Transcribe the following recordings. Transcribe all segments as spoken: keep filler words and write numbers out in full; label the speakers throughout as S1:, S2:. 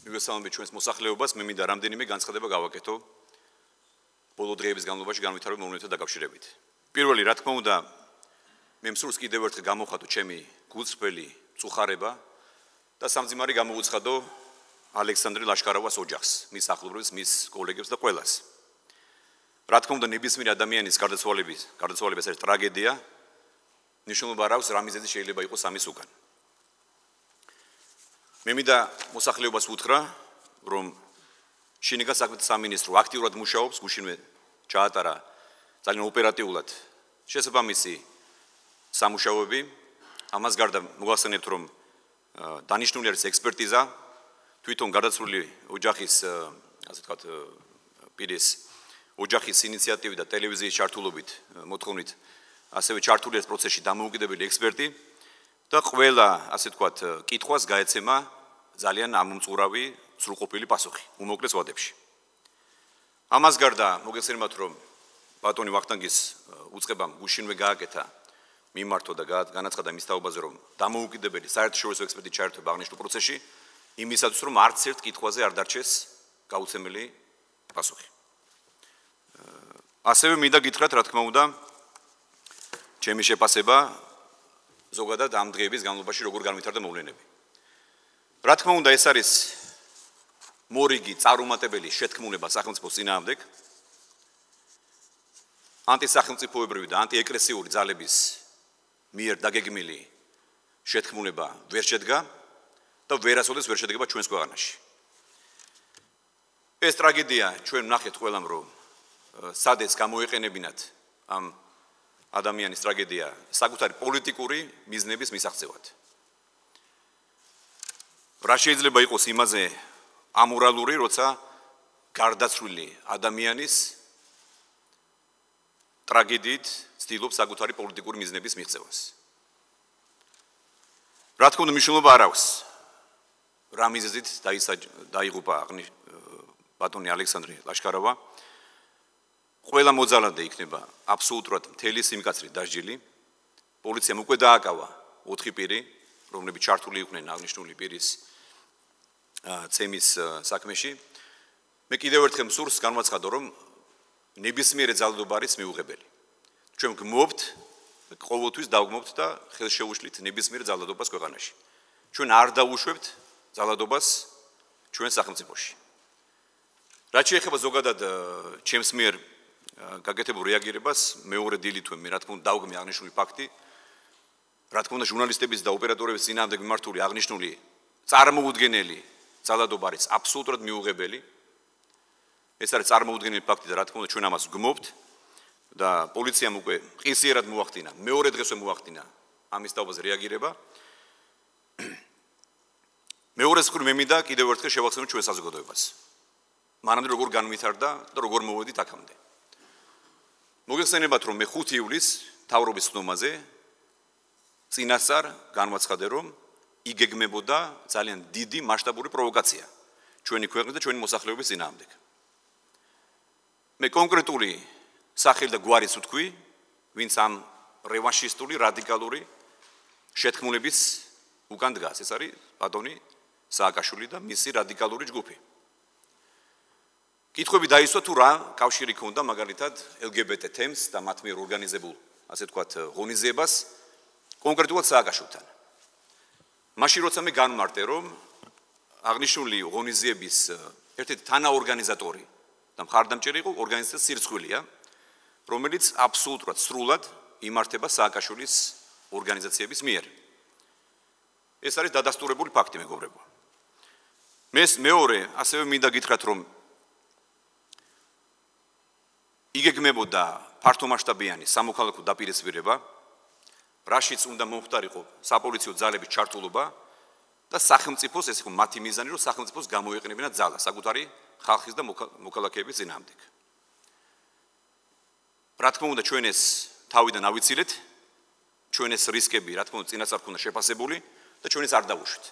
S1: მიგესალმებით ჩვენს მოსახლეობას, მე მინდა რამდენიმე განცხადება გავაკეთო ბოლო დღეების განმავლობაში განვითარებულ მომენტთან დაკავშირებით. პირველი, რა თქმა უნდა, მე მსურს კიდევ ერთხელ გამოხატო ჩემი გულწრფელი წუხარება და სამძიმარი გამოუცხადო ალექსანდრე ლაშქარავას ოჯახს, მის ახლობლებს, მის კოლეგებს და ყველას. რა თქმა უნდა, ნებისმიერ ადამიანის გარდაცვალების, გარდაცვალების ეს ტრაგედია ნიშნულობა არ აქვს რა მიზეზი შეიძლება იყოს ამის უკან. მე მინდა მოსახლეობას უთხრა, რომ შინაგან საქმეთა სამინისტრო აქტიურად მუშაობს, გუშინვე ჩაატარა ძალიან ოპერატიულად შესაბამისი სამუშაოები. ამას გარდა მოგახსენებთ, რომ დანიშნული არის ექსპერტიზა, თვითონ გარდაცვლილი ოჯახის, ასე ვთქვათ, პირის ოჯახის ინიციატივით და ტელევიზიის ჩართულობით მოთხოვნით, ასევე ჩართული ეს პროცესში დამოუკიდებელი ექსპერტი და ყველა, ასე ვთქვათ, კითხვას გაეცემა ძალიან ამომწყურავი, სრულყოფილი პასუხი უმოკლეს ვადებში. ამას გარდა მოგეხსენებათ, რომ ბატონი ვახტანგის უწყებამ გუშინვე გააკეთა მიმართვა და განაცხადა მის თაობაზე, რომ დამოუკიდებელი საერთაშორისო ექსპერტი ჩაერთვება აღნიშნულ პროცესში, იმისათვის, რომ არც ერთ კითხვაზე არ დარჩეს გაუცემელი პასუხი. ასევე მინდა გითხრათ, რა თქმა უნდა, ჩემი შეფასება ზოგადად ამ დღეების განმავლობაში როგორ განვითარდა მოვლენები. რა თქმა უნდა, ეს არის მორიგი წარუმატებელი შეთქმულება სახელმწიფოს წინააღმდეგ. ანტისახელმწიფოებრივი და ანტიეკრესიული ძალების მიერ დაგეგმილი შეთქმულება ვერ შედგა და ვერასოდეს ვერ შედგება ჩვენს ქვეყანაში. ეს ტრაგედია ჩვენ ვნახეთ ყველამ, რომ სადაც გამოეყენებინათ ამ ადამიანის ტრაგედია საკუთარი პოლიტიკური მიზნების მისაღწევად. რა შეიძლება იყოს იმაზე ამორალური, როცა გარდაცვლილი ადამიანის ტრაგედიით ცდილობს საკუთარი პოლიტიკური მიზნების მიღწევას. რა თქმა უნდა, მნიშვნელობა არ აქვს რა მიზეზით დაიღუპა ბატონი ალექსანდრე ლაშქარავა. ყველა მოძალადე იქნება აბსოლუტურად მთელი სიმკაცრით დასჯილი. პოლიციამ უკვე დააკავა ოთხი პირი, რომლებიც ჩართული იყვნენ აღნიშნული პირის ცემის საქმეში. მე კიდევ ერთხელ მსურს განვაცხადო, რომ ნებისმიერი ძალადობა არის მიუღებელი. ჩვენ გმობთ, ყოველთვის დავგმობთ და ხელს შეუშლით ნებისმიერ ძალადობას ქვეყანაში. ჩვენ არ დავუშვებთ ძალადობას ჩვენ სახელმწიფოში. რაც შეეხება ზოგადად ჩემს მიერ გაკეთებულ რეაგირებას, მეორე დილით მე რა თქმა უნდა დავგმე აღნიშნული ფაქტი. რა თქმა უნდა, ჟურნალისტების და ოპერატორების წინააღმდეგ მიმართული აღნიშნული წარმოუდგენელი ძალადობა არის აბსოლუტურად მიუღებელი. ეს არის წარმოუდგენელი ფაქტი და რა თქმა უნდა ჩვენ ამას ვგმობთ და პოლიციამ უკვე ყისიერად მოახდინა, მეორე დღესვე მოახდინა ამის თაობაზე რეაგირება. მეორე მხრივ მე მინდა კიდევ ერთხელ შევახსენო ჩვენ საზოგადოებას. მანამდე როგორ განვითარდა და როგორ მოვედით აქამდე. მოგეხსენებათ, რომ მე ხუთი ივლისს მთავრობის ხდომაზე წინასწარ განვაცხადე, რომ იგეგმებოდა ძალიან დიდი მასშტაბური პროვოკაცია ჩვენი ქვეყნის და ჩვენი მოსახლეობის წინააღმდეგ. მე კონკრეტული სახელი და გვარის ვთქვი, ვინც ამ რევანშისტული, რადიკალური შეთქმულების უკან დგას. ეს არის ბატონი სააკაშვილი და მისი რადიკალური ჯგუფი. კითხვები დაისვა თუ რა კავშირი ჰქონდა მაგალითად ელ გი ბი ტი თემს და მათ მიერ ორგანიზებულ, ასე ვთქვათ, ღონისძიებას კონკრეტულად სააკაშვილთან. მაშინ როცა მე განმარტე, რომ აღნიშნული ღონისძიების ერთ-ერთი თანაორგანიზატორი და მხარდამჭერი იყო ორგანიზაცია სირცხვილია, რომელიც აბსოლუტურად სრულად იმართება სააკაშვილის ორგანიზაციების მიერ. ეს არის დადასტურებული ფაქტი, მეგობრებო. მე მეორე ასევე მინდა გითხრათ, რომ იგეგმებოდა ფართომასშტაბიანი სამოქალაქო დაპირისპირება, რაშიც უნდა მომხდარიყო საპოლიციო ძალების ჩართულობა და სახელმწიფოს, ეს იყო მათი მიზანი, რომ სახელმწიფოს გამოეყენებინა ძალა საკუთარი ხალხის და მოქალაქეების წინააღმდეგ. რა თქმა უნდა, ჩვენ ეს თავიდან ავიცილეთ, ჩვენ ეს რისკები, რა თქმა უნდა, წინასწარ ქონდა შეფასებული და ჩვენ ეს არ დავუშვით.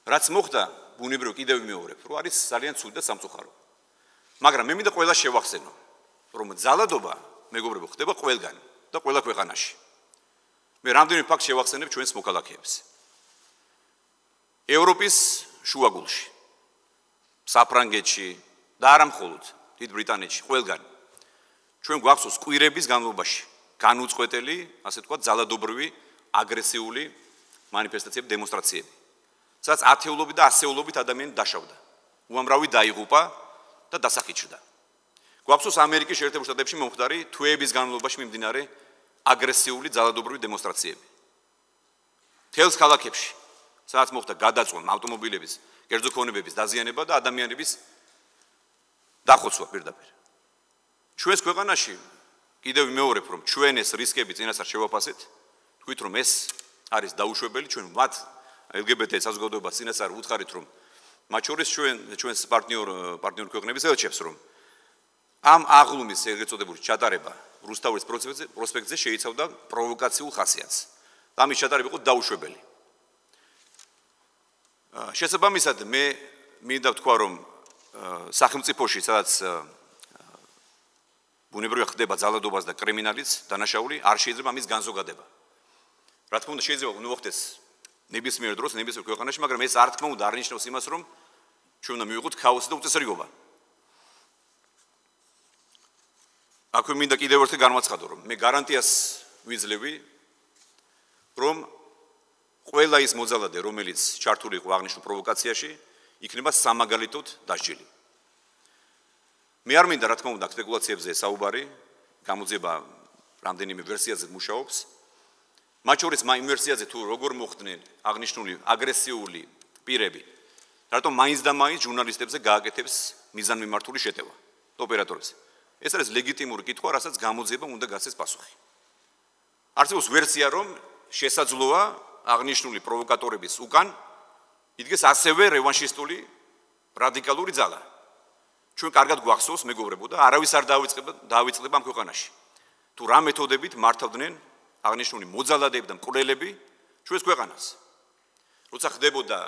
S1: რაც მოხდა, ბუნებრივ კიდევ ვიმეორებ, რომ არის ძალიან ცუდი და სამწუხარო. მაგრამ მე მინდა ყველა შევახსენო, რომ ძალადობა, მეგობრებო, ხდება ყველგან და ყველა ქვეყანაში. მე რამდენი ფაქტ შევახსენებ ჩვენს მოქალაქეებს. ევროპის შუაგულში, საფრანგეთში და არა მხოლოდ დიდ ბრიტანეთში, ყველგან. ჩვენ გვახსოვს კვირების განმავლობაში განუწყვეტელი, ასე ვთქვათ, ძალადობრივი, აგრესიული მანიფესტაციები, დემონსტრაციები. სადაც ათეულობით და ასეულობით ადამიანი დაშავდა. უამრავი დაიღუპა და დასახიჩრდა. გვახსოვს ამერიკის შეერთებულ შტატებში მომხდარი თვეების განმავლობაში მიმდინარე აგრესიული ძალადობრივი დემონსტრაციები. თელს ქალაქებში, სადაც მოხდა გადაწვა ავტომობილების, კერძო ქონებების დაზიანება და ადამიანების დახოცვა პირდაპირ. ჩვენს ქვეყანაში კიდევ ვიმეორებ, რომ ჩვენ ეს რისკები წინასწარ შევაფასეთ, თქვით, რომ ეს არის დაუშვებელი, ჩვენ მათ ელ გი ბე ტე საზოგადოებას წინასწარ უთხარით, რომ მათ შორის ჩვენ ჩვენს პარტნიორ პარტნიორ ქვეყნების ელჩებს, რომ ამ აღლუმის ეგრეთ წოდებული ჩატარება რუსთავის პროსპექტზე შეიცავდა პროვოკაციულ ხასიათს. და ამის ჩატარება იყო დაუშვებელი. შესაბამისად, მე მინდა ვთქვა, რომ სახელმწიფოში, სადაც ბუნებრივად ხდება ძალადობას და კრიმინალიც, დანაშაული, არ შეიძლება ამის განზოგადება. რა თქმა უნდა, შეიძლება მოხდეს ნებისმიერ დროს, ნებისმიერ ქვეყანაში, მაგრამ ეს არ თქმა უნდა არ ნიშნავს იმას, რომ ჩვენ უნდა მივიღოთ ქაოსი და უწესრიგობა. აქვე მინდა კიდევ ერთხელ განვაცხადო, რომ მე გარანტიას ვიძლევი, რომ ყველა ის მოძალადე, რომელიც ჩართული იყო აღნიშნულ პროვოკაციაში, იქნება სამაგალითოდ დასჯილი. მე არ მინდა, რა თქმა უნდა, სპეკულაციებზე საუბარი, გამოძიება რამდენიმე ვერსიაზე მუშაობს. მათ შორის იმ ვერსიაზე თუ როგორ მოხდნენ აღნიშნული აგრესიული პირები, რატომ მაინც და მაინც ჟურნალისტებზე გააკეთებს მიზანმიმართული შეტევა და ოპერატორებს. ეს არის ლეგიტიმური კითხვა, რასაც გამოძიება უნდა გასცეს პასუხი. არსებობს ვერსია, რომ შესაძლოა აღნიშნული პროვოკატორების უკან იდგეს ასევე რევანშისტული რადიკალური ძალა. ჩვენ კარგად გვახსოვს, მეგობრებო, და არავის არ დავიწყება დავიწყდება ამ ქვეყანაში. თუ რა მეთოდებით მართავდნენ აღნიშნული მოძალადეები და მკვლელები ჩვენს ქვეყანას. როცა ხდებოდა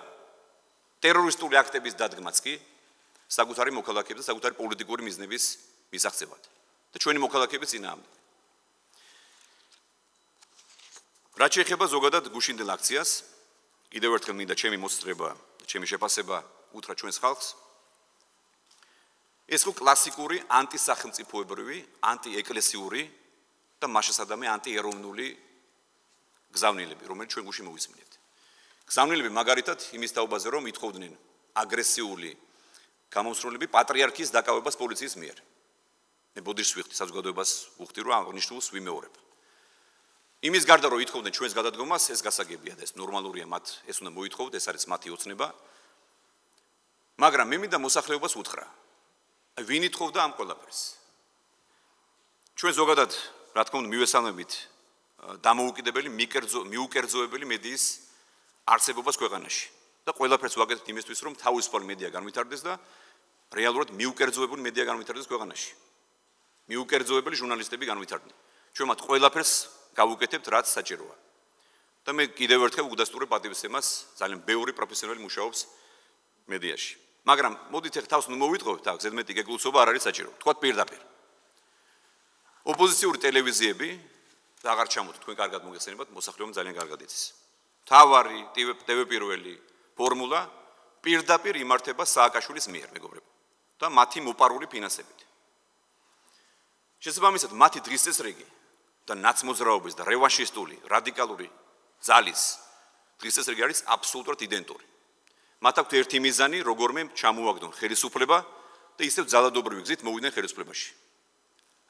S1: ტერორისტული აქტების დადგმაც კი საკუთარი მოქალაქეების და საკუთარი პოლიტიკური მიზნების მისაღწევად და ჩვენი მოქალაქეების წინააღმდეგ. რაც შეეხება ზოგადად გუშინდელ აქციას, კიდევ ერთხელ მინდა ჩემი მოსწრება, ჩემი შეფასება უთხრა ჩვენს ხალხს. ეს ხო კლასიკური ანტისახელმწიფოებრივი, ანტიეკლესიური და მასშტაბური ანტიეროვნული გზავნილები, რომელიც ჩვენ გუშინ მოვისმინეთ. გზავნილები მაგალითად იმის თაობაზე, რომ ითხოვდნენ აგრესიული გამომსრულებელი პატრიარქის დაკავებას პოლიციის მიერ. მე ბოდიშს ვიხდი საზოგადოებას უხდი, რომ აღნიშნულს ვიმეორებ. იმის გარდა რომ ითხოვდნენ ჩვენს გადადგომას, ეს გასაგებია და ეს ნორმალურია, მათ ეს უნდა მოითხოვოთ, ეს არის მათი ოცნება. მაგრამ მე მინდა მოსახლეობას უთხრა. აი ვინ ითხოვდა ამ ყველაფერს? ჩვენ ზოგადად, რა თქმა უნდა, მივესალმებით დამოუკიდებელი, მიუკერძოებელი მედიის არსებობას ქვეყანაში. და ყველაფერს ვაკეთებთ იმისთვის, რომ თავისუფალი მედია განვითარდეს და რეალურად მიუკერძოებული მედია განვითარდეს ქვეყანაში. მიუკერძოებელი ჟურნალისტები განვითარდნენ. ჩვენ მათ ყველაფერს გავუკეთებთ, რაც საჭიროა. და მე კიდევ ერთხელ უგდასტურებ პატივისცემას, ძალიან ბევრი პროფესიონალი მუშაობს მედიაში. მაგრამ მოდით ახლა თავს მოვიტყობთ, აქ ზედმეტი გეგლუცობა არ არის საჭირო. თქვათ პირდაპირ. ოპოზიციური ტელევიზიები და აღარ ჩამოთ, თქვენ კარგად მოგეხსენებათ, მოსახლეობამ ძალიან კარგად იცის. თავარი, ტევ პირველი ფორმულა პირდაპირ იმართება სააკაშვილის მიერ, მეგობრებო, და მათი მოპარული ფინანსებით. შესაბამისად, მათი დღის წესრიგი და ნაცმოძრაობის და რევანშისტული რადიკალური ძალის დღის წესრიგი არის აბსოლუტურად იდენტური. მათ აქვთ ერთი მიზანი, როგორმე ჩამოაგდონ ხელისუფლება და ისევ ძალადობრივი გზით მოვიდნენ ხელისუფლებაში.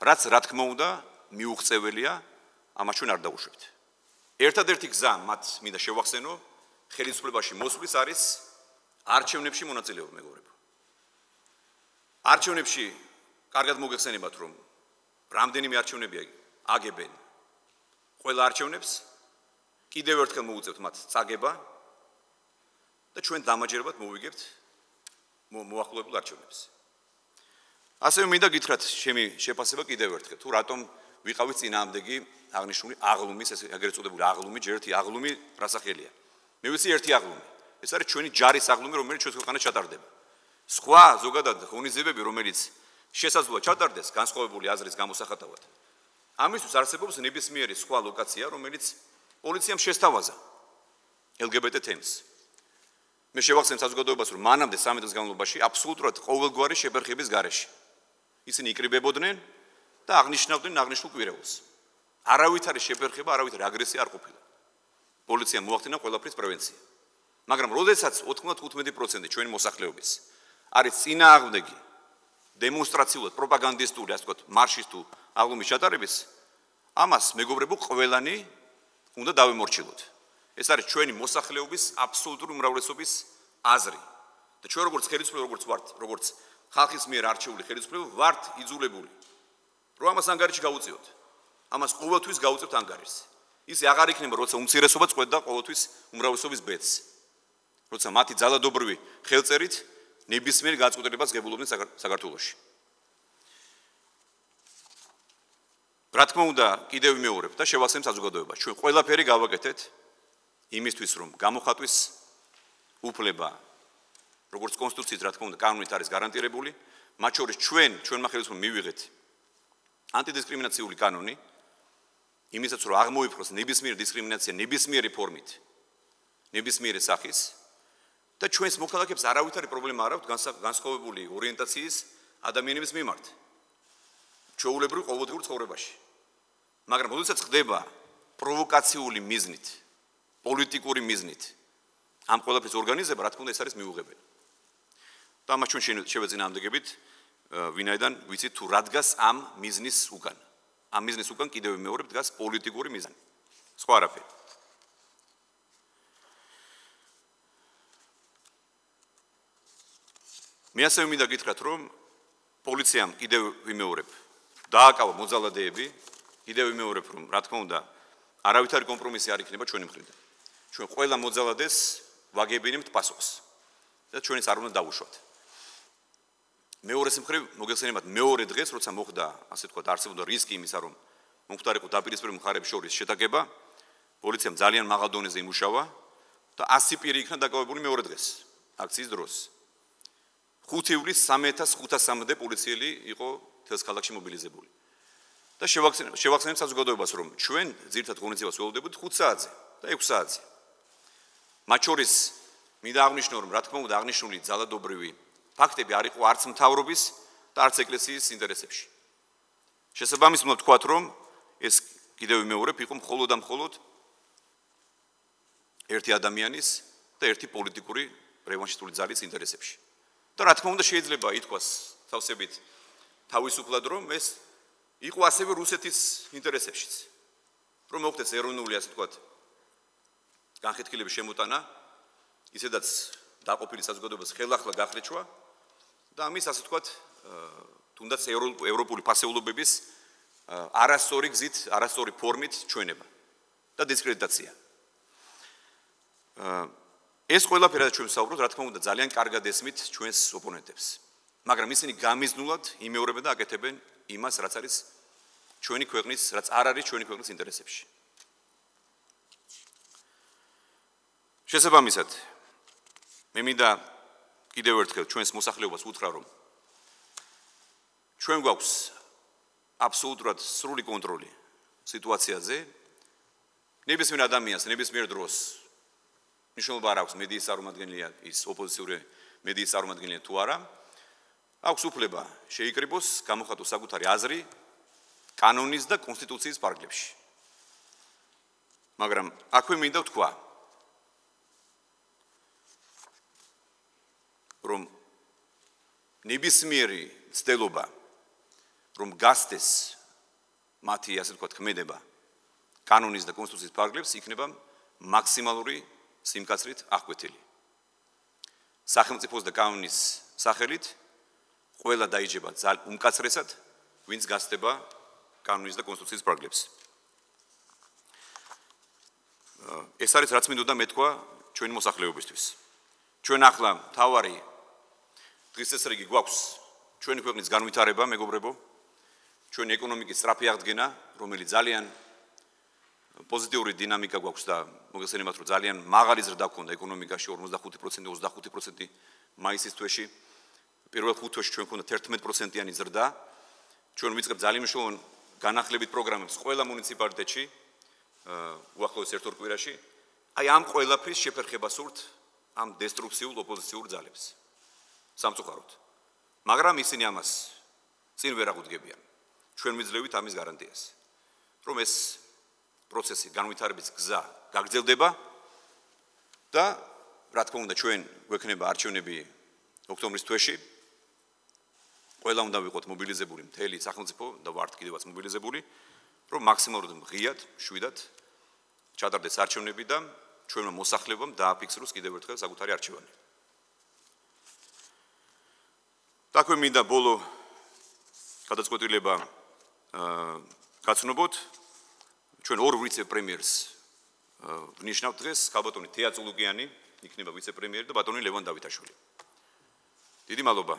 S1: რაც რა თქმა უნდა მიუღწეველია, ამას ჩვენ არ დავუშვებთ. ერთადერთი გზა მათ მინდა შევახსენო, ხელისუფლებაში მოსვლის არის არჩევნებში მონაწილეობა, მეგობრებო. არჩევნებში კარგად მოგეხსენებათ, რომ რამდენიმე არჩევნები აგებენ ყველა არჩევნებს, კიდევ ერთხელ მოუწევთ მათ წაგება და ჩვენ დამაჯერებლად მოვიგებთ მოახლოებულ არჩევნებს. ასევე მინდა გითხრათ ჩემი შეფასება კიდევ ერთხელ, თუ რატომ ვიყავით წინააღმდეგი აღნიშნული აღლუმის, ეს ეგრეთ წოდებული აღლუმი, ჯერ ერთი აღლუმი რა სახელია. მე ვიცი ერთი აღლუმი. ეს არის ჩვენი ჯარის აღლუმი, რომელიც ჩვენს ქვეყანაში ჩატარდება. სხვა ზოგადად ღონისძიებები, რომელიც შესაძლოა ჩატარდეს განსხვავებული აზრის გამოსახატავად. ამისთვის არსებობს ნებისმიერი სხვა ლოკაცია, რომელიც პოლიციამ შესთავაზა ელ გი ბე ტე თემს. მე შევახსენებ საზოგადოებას, რომ მანამდე სამი დღის განმავლობაში აბსოლუტურად ყოველგვარი შეფერხების გარეშე ისინი იკრიბებოდნენ და აღნიშნავდნენ აღნიშნულ კვირეულს. არავით არის შეფერხება, არავით არის აგრესია არ ყოფილა. პოლიციამ მოახდინა ყველაფრის პრევენცია. მაგრამ როდესაც ოთხმოცდათხუთმეტი პროცენტი ჩვენი მოსახლეობის არის წინააღმდეგი დემონსტრაციულად პროპაგანდისტული, ასე ვთქვათ, მარშის თუ აღლუმის ჩატარების, ამას მეგობრებო, ყველანი უნდა დავემორჩილოთ. ეს არის ჩვენი მოსახლეობის აბსოლუტური უმრავლესობის აზრი. და ჩვენ როგორც ხელისუფლება, როგორც ვართ, როგორც ხალხის მიერ არჩეული ხელისუფლება, ვართ იძულებული, რომ ამას ანგარიში გავუწიოთ. ამას ყოველთვის გავუწევთ ანგარიშს. ისე აღარ იქნება, როცა უმცირესობა წყვეტდა ყოველთვის უმრავლესობის ბედს. როცა მათი ძალადობრივი ხელწერით ნებისმიერ გაწყვეტილებას ღებულობდნენ საქართველოში. რა თქმა უნდა, კიდევ ვიმეორებ და შევახსენებ საზოგადოებას. ჩვენ ყველაფერი გავაკეთეთ იმისთვის, რომ გამოხატვის უფლება, როგორც კონსტიტუციის, რა თქმა უნდა, კანონით არის გარანტირებული, მათ შორის ჩვენ, ჩვენმა ხელისუფლებამ მივიღეთ ანტიდისკრიმინაციული კანონი, იმისაც, რომ აღმოიფროს ნებისმიერი დისკრიმინაცია ნებისმიერი ფორმით, ნებისმიერი სახის და ჩვენს მოქალაქეებს არავითარი პრობლემა არ აქვს განსხვავებული ორიენტაციის ადამიანების მიმართ. ჩვეულებრივ ყოველდღიურ ცხოვრებაში. მაგრამ როდესაც ხდება პროვოკაციული მიზნით, პოლიტიკური მიზნით ამ ყველაფრის ორგანიზება, რა თქმა უნდა, ეს არის მიუღებელი. და ამას ჩვენ შევეწინააღმდეგებით, ვინაიდან ვიცით თუ რა დგას ამ მიზნის უკან. ამ მიზნის უკან კიდევ მეორე დგას პოლიტიკური მიზანი. სხვა არაფერი. მე ასევე მინდა გითხრათ, რომ პოლიციამ კიდევ ვიმეორებ დააკავა მოძალადეები, კიდევ ვიმეორებ, რომ რა თქმა უნდა, არავითარი კომპრომისი არ იქნება ჩვენი მხრიდან. ჩვენ ყველა მოძალადეს ვაგებინებთ პასუხს და ჩვენიც არ უნდა დავუშვათ. მეორეს მხრივ მოგეხსენებათ მეორე დღეს, როცა მოხდა, ასე ვთქვათ, არსებობდა რისკი იმისა, რომ მომხდარიყო დაპირისპირებული მხარეების შორის შეტაკება, პოლიციამ ძალიან მაღალ დონეზე იმუშავა და ასი პირი იქნა დაკავებული მეორე დღეს, აქციის დროს. ხუთი ივლისს სამი ათას ხუთასამდე პოლიციელი იყო თელს ქალაქში მობილიზებული. და შევახსენებ, შევახსენებ საზოგადოებას, რომ ჩვენ ძირითად ღონისძიებას ველოდებოდით ხუთ საათზე და ექვს საათზე. მათ შორის მინდა აღნიშნო, რომ რა თქმა უნდა აღნიშნული ძალადობრივი ფაქტები არ იყო არც მთავრობის და არც ეკლესიის ინტერესებში. შესაბამისად უნდა ვთქვათ, რომ ეს კიდევ ვიმეორებ, იყო მხოლოდ და მხოლოდ ერთი ადამიანის და ერთი პოლიტიკური რევანშისტული ძალის ინტერესებში. და რა თქმა უნდა შეიძლება ითქვას თავსებით თავისუფლად, რომ ეს იყო ასევე რუსეთის ინტერესებშიც. რომ მოხდეს ეროვნული, ასე ვთქვათ, განხეთქილების შემოტანა, ისედაც დაყოფილი საზოგადოების ხელახლა გახლიჩვა და ამის, ასე ვთქვათ, თუნდაც ევროპული ფასეულობების არასწორი გზით, არასწორი ფორმით ჩვენება და დისკრედიტაცია. ეს ყველაფერი რაც ჩვენ ვსაუბრობთ, რა თქმა უნდა, ძალიან კარგად ესმით ჩვენს ოპონენტებს. მაგრამ ისინი გამიზნულად იმეორებენ და აკეთებენ იმას, რაც არის ჩვენი ქვეყნის, რაც არ არის ჩვენი ქვეყნის ინტერესებში. შესაბამისად, მე მინდა კიდევ ერთხელ ჩვენს მოსახლეობას უთხრა, რომ ჩვენ გვაქვს აბსოლუტურად სრული კონტროლი სიტუაციაზე. ნებისმიერ ადამიანს, ნებისმიერ დროს მნიშვნელობა არ აქვს მედიის წარმომადგენელია ის ოპოზიციური მედიის წარმომადგენელია თუ არა. აქვს უფლება შეიკრიბოს, გამოხატოს საკუთარი აზრი კანონის და კონსტიტუციის ფარგლებში. მაგრამ აქვე მინდა ვთქვა, რომ ნებისმიერი ცდელობა, რომ გასცდეს მათი, ასე ვთქვათ, ქმედება კანონის და კონსტიტუციის ფარგლებს, იქნება მაქსიმალური სიმკაცრით აღკვეთილი. სახელმწიფოს და კანონის სახელით ყველა დაიჯება უმკაცრესად, ვინც გასცდება კანონის და კონსტიტუციის ფარგლებს. ეს არის რაც მინდოდა მეთქვა ჩვენი მოსახლეობისთვის. ჩვენ ახლა თავარი დღესწრიგი გვაქვს ჩვენი ქვეყნის განვითარება, მეგობრებო, ჩვენი ეკონომიკის სწრაფი აღდგენა, რომელიც ძალიან პოზიტიური დინამიკა გვაქვს და მოგეხსენებათ, რომ ძალიან მაღალი ზრდა გქონდა ეკონომიკაში ორმოცდახუთი პროცენტი, ოცდახუთი პროცენტი მაისის თვეში. პირველ ხუთ თვეში ჩვენ გქონდა თერთმეტ პროცენტიანი ზრდა. ჩვენ ვიწყებთ ძალიან მნიშვნელოვან განახლებით პროგრამებს ყველა მუნიციპალიტეტში, უახლოეს ერთ-ორ კვირაში. აი ამ ყველაფრის შეფერხებას ვურთ ამ დესტრუქციულ ოპოზიციურ ძალებს სამწუხაროდ. მაგრამ ისინი ამას წინ ვერ აღუდგებიან. ჩვენ ვიძლევით ამის გარანტიას, რომ ეს პროცესი განვითარების გზა გაგრძელდება და რა თქმა უნდა ჩვენ გვექნება არჩევნები ოქტომბრის თვეში. ყველა უნდა ვიყოთ მობილიზებული მთელი სახელმწიფო და ვართ კიდევაც მობილიზებული, რომ მაქსიმალურად ღიად, შვიდად ჩატარდეს არჩევნები და ჩვენმა მოსახლებამ დააფიქსროს კიდევ ერთხელ საკუთარი არჩევანი. დაქვე მინდა ბოლო გადაწყვეტილება გაცნობოთ. ჩვენ ორ ვიცე-პრემიერს ვნიშნავთ დღეს, ქალბატონი თეა წულუკიანი იქნება ვიცე-პრემიერი და ბატონი ლევან დავითაშვილი. დიდი მადლობა.